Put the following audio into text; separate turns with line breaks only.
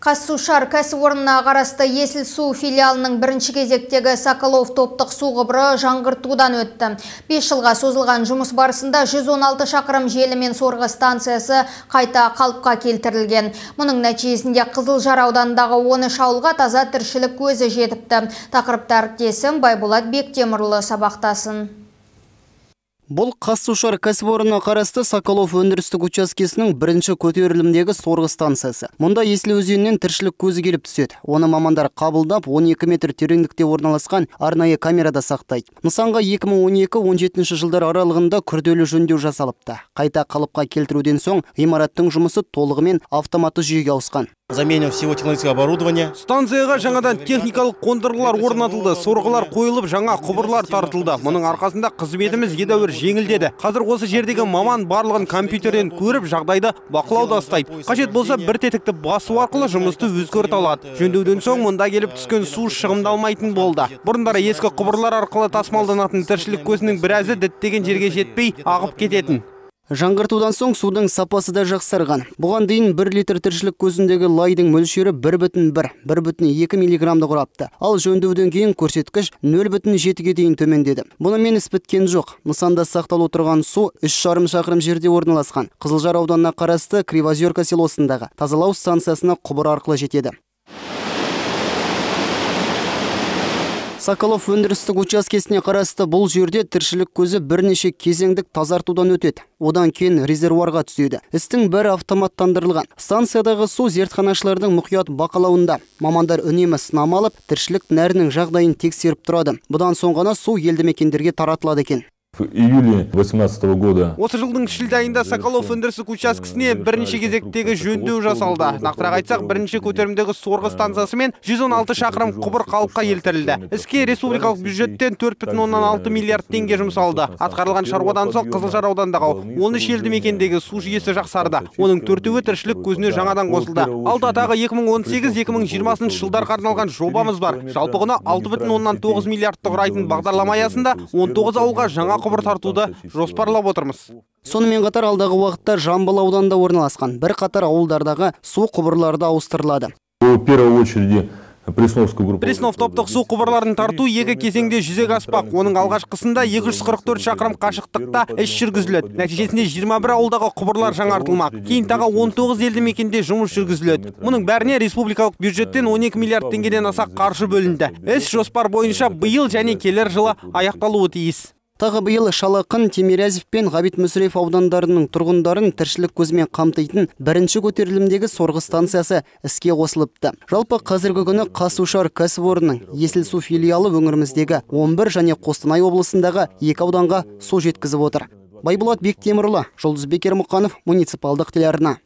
Қазсушар кәсіпорнына қарасты Есіл су филиалының бірінші кезектегі Соколов топтық су құбыры жаңғыртудан өтті. 5 жылға созылған жұмыс барысында 116 шақырым желі мен сорғы станциясы қайта қалыпқа келтірілген. Мұның нәтижесінде Қызылжар ауданындағы 13 ауылға таза тіршілік көзі жетіпті. Тақырыпты әріптесім Байболат Бектемірлі сабақтасын.
Бұл Қазсушар кәсіпорнына қарасты Соколов өндірістік учаскесінің бірінші көтерілімдегі сорғы станциясы. Мұнда Есіл өзенінен тіршілік көзі келіп түседі. Оны мамандар қабылдап 12 метр тереңдікте орналасқан арнайы камерада сақтайды. Нысанға 2012-17 жылдар аралығында күрделі жөндеу жасалыпты. Қайта қалыпқа келтіруден соң ғимараттың жұмысы толығымен автоматты жүйеге ауысқан.
Замену всего технологического оборудования.
Станцияға жаңадан техникалық қондырғылар орнатылды, сорғылар қойылып, жаңа құбырлар тартылды. Мұның арқасында қызметіміз едәуір жеңілдеді. Қазір осы жердегі маман барлығын компьютерден көріп, жағдайды бақылауда ұстайды. Қажет болса бір тетікті басу арқылы жұмысты өзгерте алады. Жөндеуден соң мұнда келіп түскен су шығымдалмайтын болды. Бұрындары ескі құбырлар арқылы тасымалданатын тіршілік көзінің біразы діттеген жерге жетпей ағып кететін.
Жаңғыртудан соң судың сапасы да жақсарған. Бұған дейін 1 литр тіршілік көзіндегі лайдың мөлшері 1,1-1,2 миллиграмды құрапты. Ал жөндеуден кейін көрсеткіш 0,7-ге дейін төмендеді. Бұнымен іс біткен жоқ. Нысанда сақталып отырған су 3,5 шақырым жерде орналасқан. Қызылжар ауданына қарасты Кривозерка селосындағы тазалау станциясына құбыр арқылы жетеді. Соколов өндірістік учаскесіне қарасты бұл жерде тіршілік көзі бірнеше кезеңдік тазартудан өтеді. Одан кейін резервуарға түседі. Істің бәрі автоматтандырылған. Станциядағы су зертханашылардың мұқият бақылауында. Мамандар үнемі сынама алып, тіршілік нәрінің жағдайын тексеріп тұрады. Бұдан соң ғана су елді мекендерге таратылады екен.
В июле 2018 года.
Осы жылдың шілде айында Соколов өндірістік учаскесіне бірінші кезектегі жөндеу жасалды. Нақтырақ айтсақ, бірінші көтерімдегі сорғы станциясы мен 116 шақырым құбыр қалыпқа келтірілді. Іске республикалық бюджеттен 4,6 миллиард теңге жұмсалды. Атқарылған шаруадан соң Қызылжар ауданындағы 13 елді мекендегі су жүйесі жақсарды. Оның 4-і тіршілік көзіне жаңадан қосылды. Алда тағы 2018-2020 жылдарға арналған жобамыз бар. Жалпы құны 6,9 миллиардты құрайтын бағдарлама аясында 19 ауылға жаңа құбыр тартуды жоспарлап отырмыз.
Сонымен қатар алдағы уақытта Жамбыл ауданында орналасқан бір қатар ауылдардағы су құбырлары ауыстырылады.
В первую очередь
Преснов топтық су құбырларын тарту екі кезеңде жүзеге аспақ. Оның алғашқысында 244 шақырым қашықтықта іс жүргізіледі. Нәтижесінде 21 ауылдағы құбырлар жаңартылмақ. Кейін тағы 19 елді мекенде жұмыс жүргізіледі. Мұның бәріне республикалық бюджеттен 12 миллиард теңгеден аса қаржы бөлінді. Іс жоспар бойынша биыл және келер жылы аяқталуы тиіс.
Тағы биыл Шалақын, Темирязев пен Ғабит Мүсірев аудандарының тұрғындарын тіршілік көзімен қамтитын бірінші көтерілімдегі сорғы станциясы іске қосылыпты. Жалпы қазіргі күні Қазсушар кәсіпорнының Есіл су филиалы өңіріміздегі 11 және Қостанай облысындағы 2 ауданға су жеткізіп отыр. Байболат Бектемірлі, Жұлдыз Бекер Мұқанов, муниципалдық телеарна.